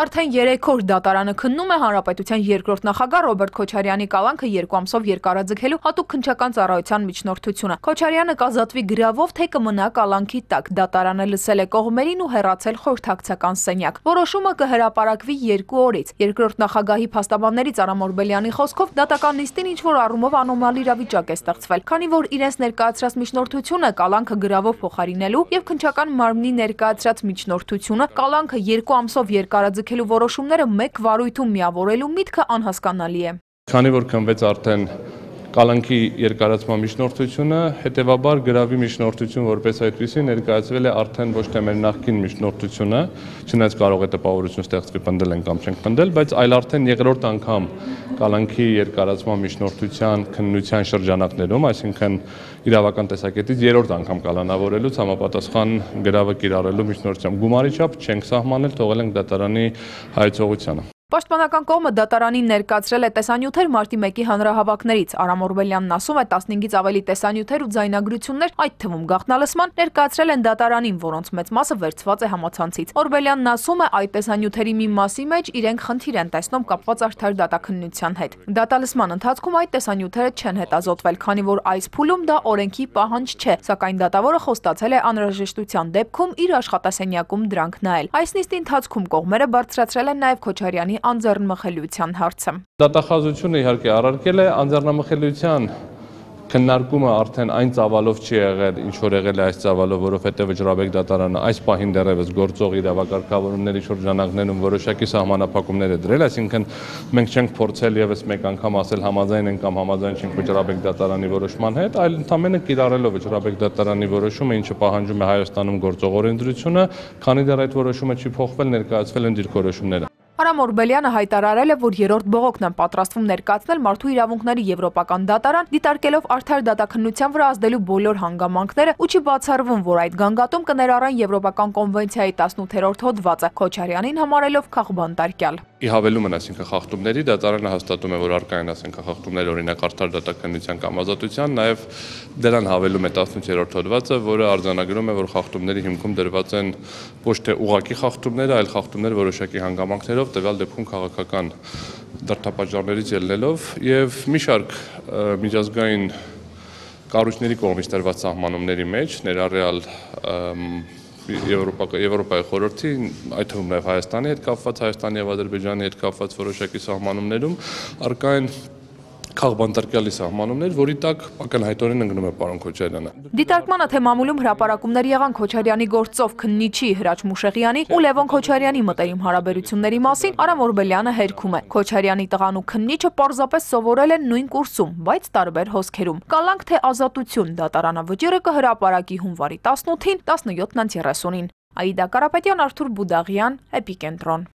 Արդեն 3 օր դատարանը քննում է հանրապետության երկրորդ նախագահ Ռոբերտ Քոչարյանի կալանքը 2 ամսով երկարաձգելու հատուկ քննչական ծառայության միջնորդությունը։ Քոչարյանը կազատվի գրավով, թե կմնա կալանքի տակ։ Դատարանը լսել է կողմերին ու հեռացել խորհրդակցական սենյակ։ Որոշումը կհրապարակվի 2 օրից։ Երկրորդ նախագահի փաստաբաններից Արամ Օրբելյանի խոսքով դատական նիստին ինչ-որ առումով անոմալ իրավիճակ է ստեղծվել, քանի որ իրենց ներկայացրած միջնորդությունը կալանքը գրավով փոխարինելու եւ քննչական մարմնի ներկայացրած միջնորդությունը կալանքը 2 ամսով երկարաձգելու որոշումները մեկ վարույթում միավորելու միտքը անհասկանալի է։ Քանի որ քննվեց արդեն կալանքի երկարացման միջնորդությունը, հետևաբար գրավի միջնորդություն որպես այդպիսի ներկայացվել է արդեն ոչ թե մեր նախկին միջնորդությունը, չնայած կարող է տպավորություն ստեղծվի պնդել են կամ չենք պնդել, բայց այլ արդեն երկրորդ անգամ կալանքի երկարացման միջնորդության քննության շրջանակներում, այսինքն իրավական տեսակետից 3-րդ անգամ կալանավորելուց համապատասխան գրավը կիրառելու միջնորդությամբ գումարի չափ չենք սահմանել, թողել ենք դատարանի հայեցողությանը։ Պաշտպանական կողմը դատարանին ներկայացրել է տեսանյութեր մարտի 1-ի հանրահավաքներից։ Արամ Օրբելյանն ասում է 15-ից ավելի տեսանյութեր ու ձայնագրություններ, այդ թվում գաղտնալսման, ներկայացրել են դատարանին, որոնց մեծ մասը վերցված է համացանցից։ Օրբելյանն ասում է, այդ տեսանյութերի մի մասի մեջ իրենք խնդիր են տեսնում կապված արդար դատաքննության հետ։ Դատալսման ընթացքում այդ տեսանյութերը չեն հետազոտվել, քանի որ այս փուլում դա օրենքի պահանջ չէ, սակայն դատավորը խոստացել է անհրաժեշտության դեպքում իր աշխատասենյակում դրանք նայել։ Այս նիստի ընթացքում կողմերը բարձրացրել են նաև Քոչարյանի անձեռնմխելիության հարցը։ Դատախազությունը իհարկե առարկել է անձեռնմխելիության քննարկումը արդեն այն ծավալով չի եղել, ինչ որ եղել է այս ծավալով, որովհետև Վճռաբեկ դատարանը այս պահին դեռևս գործող իրավակարգավորումների շրջանակներում որոշակի սահմանափակումներ է դրել, այսինքն մենք չենք փորձել եւս մեկ անգամ ասել համաձայն ենք կամ համաձայն չենք Վճռաբեկ դատարանի որոշման հետ, այլ ընդհանրապես կիրառելով Վճռաբեկ դատարանի որոշումը, ինչը պահանջում է Հայաստանում գործող օրենսդրությունը, քանի դեռ այդ որոշումը չի փոխվել, ներկայացվել են դիրքորոշումները։ Արամ Օրբելյանը հայտարարել է, որ երրորդ բողոքն են պատրաստվում ներկայացնել Մարդու իրավունքների եվրոպական դատարան, դիտարկելով արդար դատաքննության վրա ազդելու բոլոր հանգամանքները ու չի բացառվում, որ այդ գանգատում կներառեն Եվրոպական կոնվենցիայի 18-րդ հոդվածը, Քոչարյանին համարելով քաղբանտարկյալ։ Ի հավելումն, այսինքն խախտումների, դատարանը հաստատում է, որ առկա են, այսինքն խախտումներ օրինակ արդար դատաքննության կամ ազատության, նաև դրան հավելում է 18-րդ հոդվածը, որը արձանագրում է, որ խախտումների հիմքում դրված են ոչ թե ուղղակի խախտումներ, այլ խախտումներ որոշակի հանգամանքներով, տվյալ դեպքում քաղաքական դրդապատճառներից ելնելով եւ մի շարք միջազգային կառույցների կողմից տրված սահմանումների մեջ, ներառյալ Եվրոպայի խորհրդի, այդ թվում նաև Հայաստանի հետ կապված, Հայաստանի եւ Ադրբեջանի հետ կապված որոշակի սահմանումներում առկա են քաղբանտարկյալի սահմանումներ, որի տակ ակնհայտորեն ընկնում է պարոն Քոչարյանը։ Դիտարկմանը թե մամուլում հրապարակումներ եղան Քոչարյանի գործով քննիչի Հրաչ Մուշեղյանի ու Լևոն Քոչարյանի մտերիմ հարաբերությունների մասին Արամ Օրբելյանը հերքում է։ Քոչարյանի տղան ու քննիչը պարզապես սովորել են նույն կուրսում, բայց տարբեր հոսքերում։ Կալանք թե ազատություն դատարանը վճիռը կհրապարակի հունվարի 18-ին 17:30-ին։ Աիդա Կարապետյան, Արթուր Բուդաղյան, Էպիկենտրոն։